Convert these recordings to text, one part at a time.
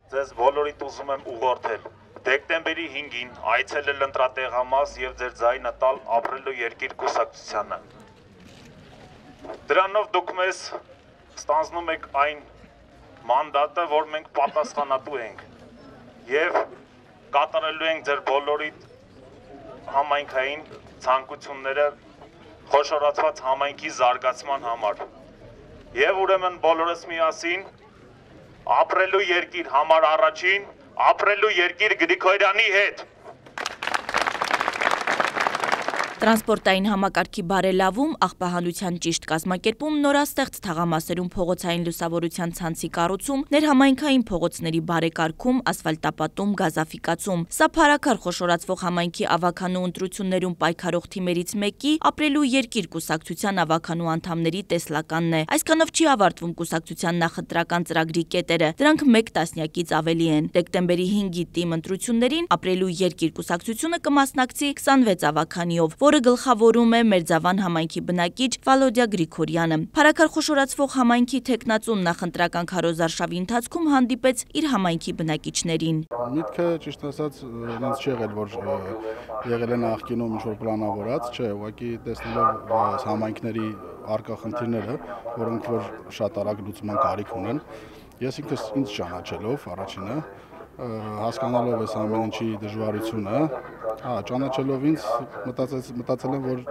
Ձեզ բոլորիդ ուզում եմ ուղղորդել դեկտեմբերի 5-ին այցելել ընտրատեղամաս եւ ձեր ձայնը տալ ապրելու երկիր կուսակցությանը։ Դրանով դուք մեզ ստանձնում եք այն մանդատը, որ մենք պատասխանատու ենք եւ կատարելու ենք ձեր բոլորիդ համայնքային ցանկությունները խոշորացված համայնքի զարգացման համար։ Եվ ուրեմն բոլորս միասին ապրելու երկիր համար առաջին, ապրելու երկիր Գրիգորյանի հետ։ Տրանսպորտային համակարգի բարելավում, աղբահանության ճիշտ կազմակերպում, նորաստեղծ թաղամասերում փողոցային լուսավորության ցանցի կառուցում, ներհամայնքային փողոցների բարեկարգում, ասֆալտապատում, գազաֆիկացում։ Սա փառաքար խոշորացվող համայնքի ավականու ընտրություններում պայքարող թիմերից մեկի ապրելու երկիր կուսակցության ավականու անդամների տեսլականն է։ Այսքանով չի ավարտվում կուսակցության նախընտրական ծրագրի կետերը, դրանք մեկ տասնյակից ավելի են։ Դեկտեմբերի 5-ի թիմ ընտրություններին ապրելու երկիր կուսակցությունը կմասնակցի 26 ավականիով, որը գլխավորում է Մերձավան համայնքի բնակիչ Վալոդիա Գրիգորյանը։ Փառաքար խոշորացվող համայնքի թեկնածուն նախընտրական քարոզարշավի ընթացքում հանդիպեց իր համայնքի բնակիչներին։ Միտքը ճիշտ ասած ինձ չի եղել, որ եղել է նախկինում ինչ-որ պլանավորած, չէ, ուղղակի տեսնելով համայնքների առկա խնդիրները, որոնք որ շատ արագ լուծման կարիք ունեն, ես ինքս ինձ ճանաչելով առաջինը, հասկանալով այս ամեն ինչի դժվարությունը, ճանաչելով ինձ մտածել եմ, որ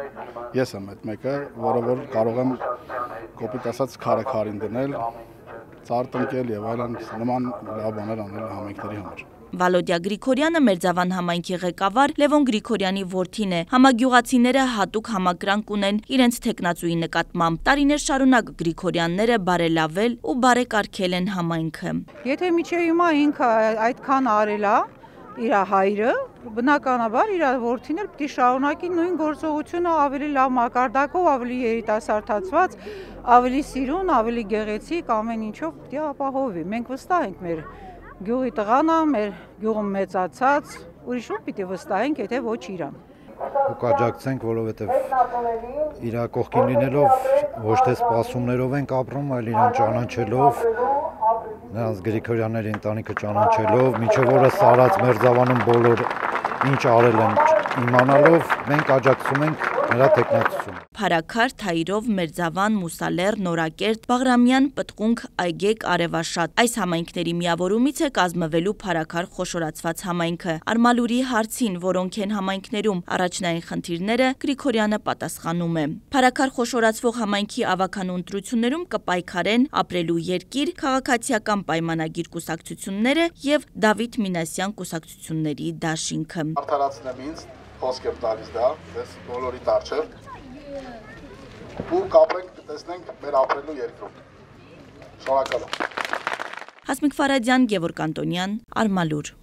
ես եմ այդ մեկը, որը որ կարող եմ կոպիտ ասած քարը քարին դնել, ծառ տնկել եւ այլն նման լավ բաներ անել համայնքների համար։ Վալոդիա Գրիգորյանը Մերձավան համայնքի ղեկավար Լևոն Գրիգորյանի որդին է։ Համագյուղացիները հատուկ համակրանք ունեն իրենց թեկնածուի նկատմամբ։ Տարիներ շարունակ Գրիգորյանները բարելավել ու բարեկարգել են համայնքը։ Եթե միջև հիմա ինքը այդքան արել է, իր հայրը, բնականաբար իր որդին էլ պիտի շարունակի նույն գործողությունը ավելի լավ մակարդակով, ավելի երիտասարդացված, ավելի սիրուն, ավելի գեղեցիկ ամեն ինչով պիտի ապահովի։ Մենք վստահ ենք մեր գյուղի տղան է, մեր գյուղում մեծացած, ուրիշ ում պիտի վստահենք, եթե ոչ իրան։ Ու կաջակցենք, որովհետև իր կողքին լինելով ոչ թե սպասումներով ենք ապրում, այլ իրան ճանաչելով, նրանց Գրիգորյանների ընտանիքը ճանաչելով, մինչև օրս արած Մերձավանում բոլոր ինչ արել են իմանալով, մենք աջակցում ենք նրա թեկնածությունը։ Փառաքար, Թայրով, Մերձավան, Մուսալեռ, Նորակերտ, Բաղրամյան, Պտղունք, Այգեկ, Արևաշատ։ Այս համայնքների միավորումից է կազմվելու Փառաքար խոշորացված համայնքը։ Արմալուրի հարցին, որոնք են համայնքներում առաջնային խնդիրները, Գրիգորյանը պատասխանում է։ Փառաքար խոշորացվող համայնքի ավականու ընտրություններում կպայքարեն ապրելու երկիր, քաղաքացիական պայմանագիր կուսակցությունները եւ Դավիթ Մինասյան կուսակցությունների դաշինքը։ Արդարացնեմ ինձ, խոսք եմ տալիս դա, ես բոլորիդ առջև, ու կապենք, տեսնենք մեր ապրելու երկրում։ Շնորհակալ եմ։ Հասմիկ Ֆարադյան, Գևորգ Անտոնյան, Արմալուր։